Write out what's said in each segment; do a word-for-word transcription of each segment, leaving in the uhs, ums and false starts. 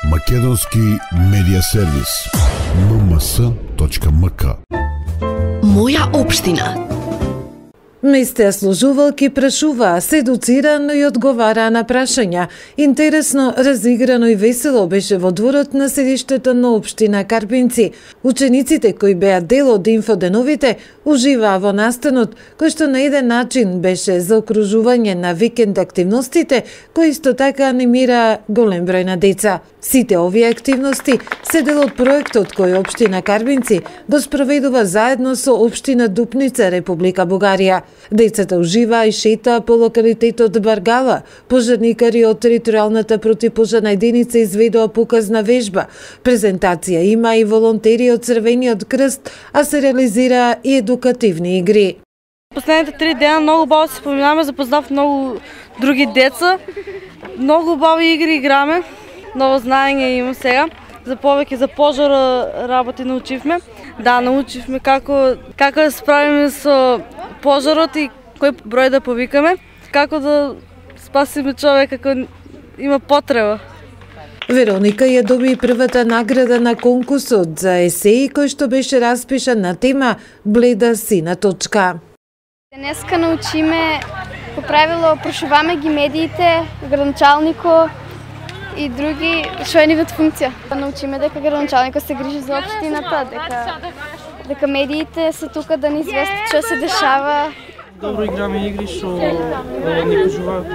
Македонски медија сервис ем ем ес точка ем ка. Моја општина. Месте служувалки прашуваа, се едуцирано и одговараа на прашања. Интересно, разиграно и весело беше во дворот на седиштето на општина Карбинци. Учениците кои беа дел од инфоденовите уживаа во настанот, кој што на еден начин беше заокружување на викенд активностите, кои исто така анимираа голем број на деца. Сите овие активности се дел од проектот кој општина Карбинци го спроведува заедно со општина Дупница, Република Бугарија. Децата уживаа и шетаа по локалитетот Баргала. Пожарникари од територијалната противпожарна единица изведоа показна вежба. Презентација има и волонтери од Црвениот крст, а се реализираа и едукативни игри. Последните три дена многу баво се споминаме, запознав многу други деца. Многу бави игри играме, ново знаење имам сега. За повеќе за пожар работи научивме. Да, научивме како како да се справиме со пожарот и кој број да повикаме, како да спасиме човек ако има потреба. Вероника ја доби првата награда на конкурсот за есеи кој што беше распишан на тема Бледа сина точка. Денеска научиме по правило прошуваме ги медиите, градоначалнико и други што е нивната функција. Научиме дека градоначалникот се грижи за општината, дека дека медиите се тука да ни известат што се дешава. Добро играме игри што ни кажуваат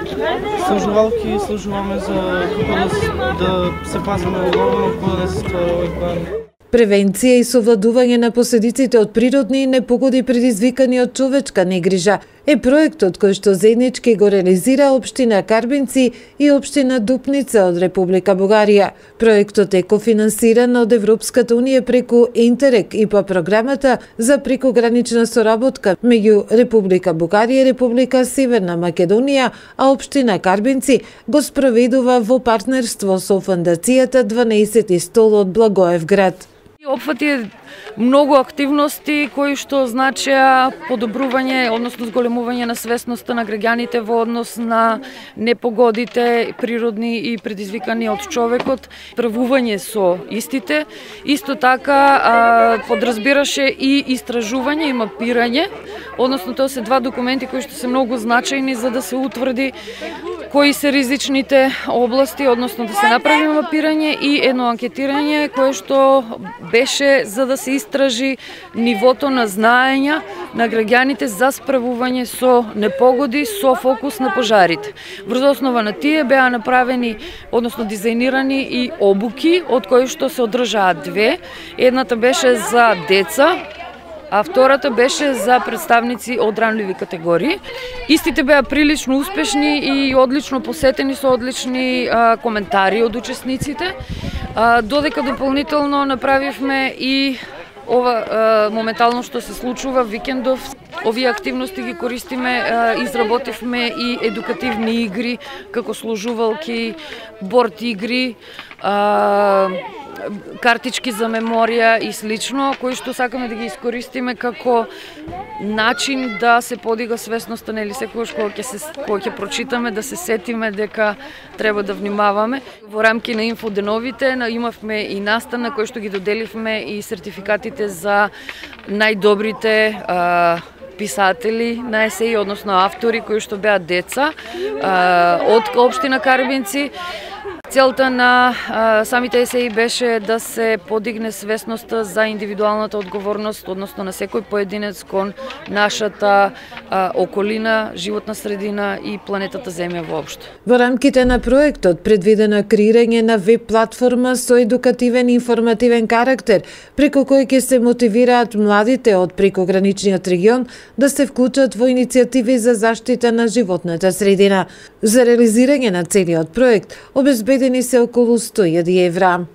служувалки, служуваме за како да, да се пазиме одговорно, како да не се ствара овој план. Превенција и совладување на последиците од природни и непогоди предизвикани од човечка негрижа е проектот кој што заеднички го реализира општина Карбинци и општина Дупница од Република Бугарија. Проектот е кофинансиран од Европската унија преку Интерек и по програмата за прекогранична соработка меѓу Република Бугарија и Република Северна Македонија, а општина Карбинци го спроведува во партнерство со фондацијата дванаесети стол од Благоевград. Опфати многу активности кои што значеа подобрување, односно зголемување на свесноста на граѓаните во однос на непогодите природни и предизвикани од човекот, правување со истите. Исто така а, подразбираше и истражување и мапирање, односно тоа се два документи кои што се многу значајни за да се утврди кои се ризичните области, односно да се направи мапирање и едно анкетирање кое што беше за да се истражи нивото на знаења на граѓаните за справување со непогоди со фокус на пожарите. Врз основа на тие беа направени, односно дизајнирани и обуки, од кои што се одржаат две. Едната беше за деца, а втората беше за представници од ранливи категории. Истите беа прилично успешни и одлично посетени со одлични а, коментари од учесниците. А, додека дополнително направивме и ова а, моментално што се случува викендов. Овие активности ги користиме, а, изработивме и едукативни игри како служувалки, борд игри, а, картички за меморија и слично, кои што сакаме да ги искористиме како начин да се подига свесноста, нели секогаш кога ќе се кога ќе прочитаме да се сетиме дека треба да внимаваме. Во рамки на инфоденовите имавме и настана кои што ги доделивме и сертификатите за најдобрите а, писатели на есеи, односно автори кои што беа деца а, од општина Карбинци. Целта на а, самите есеи беше да се подигне свесноста за индивидуалната одговорност, односно на секој поединец кон нашата а, околина, животна средина и планетата Земја воопшто. Во рамките на проектот предвидено креирање на веб платформа со едукативен и информативен карактер, преку кој ќе се мотивираат младите од прекограничниот регион да се вклучат во иницијативи за заштита на животната средина. За реализирање на целиот проект обезбедени се околу сто илјади евра.